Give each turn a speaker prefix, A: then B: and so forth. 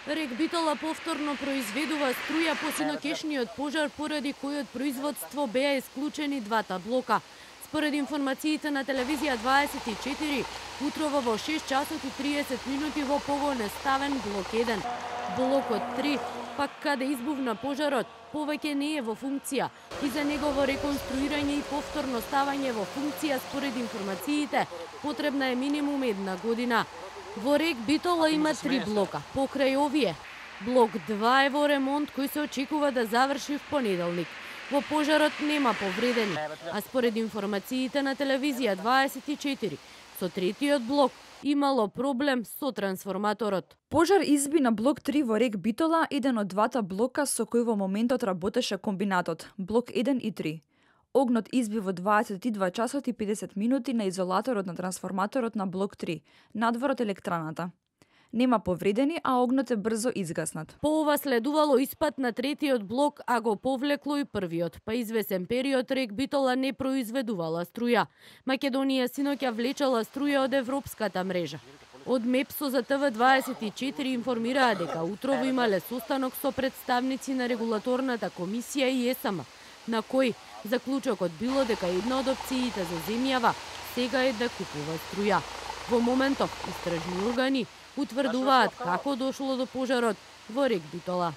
A: Рек Битола повторно произведува струја по синокешниот пожар, поради којот производство беа исклучени двата блока. Според информациите на телевизија 24, утрово во 6 часот и 30 минути во погон е ставен блок 1. Блокот 3, пак каде избувна пожарот, повеќе не е во функција и за негово реконструирање и повторно ставање во функција според информациите потребна е минимум 1 година. Во Рек Битола има 3 блока. Покрај овие, блок 2 е во ремонт кој се очекува да заврши в понеделник. Во пожарот нема повредени, а според информациите на телевизија 24, со третиот блок имало проблем со трансформаторот.
B: Пожар изби на блок 3 во Рек Битола, еден од двата блока со кој во моментот работеше комбинатот, блок 1 и 3. Огнот изби во 22 часот и 50 минути на изолаторот на трансформаторот на блок 3, надвор од електраната. Нема повредени, а огнот е брзо изгаснат.
A: По ова следувало испад на третиот блок, а го повлекло и првиот. Па извесен период Рек Битола не произведувала струја. Македонија синоќа влечала струја од европската мрежа. Од МЕПСО за ТВ24 информираа дека утрово имале состанок со представници на регулаторната комисија и ЕСМ, на кој заклучокот било дека една од опциите за земјава сега е да купува струја. Во моментов истражни органи утврдуваат како дошло до пожарот во Рек Битола.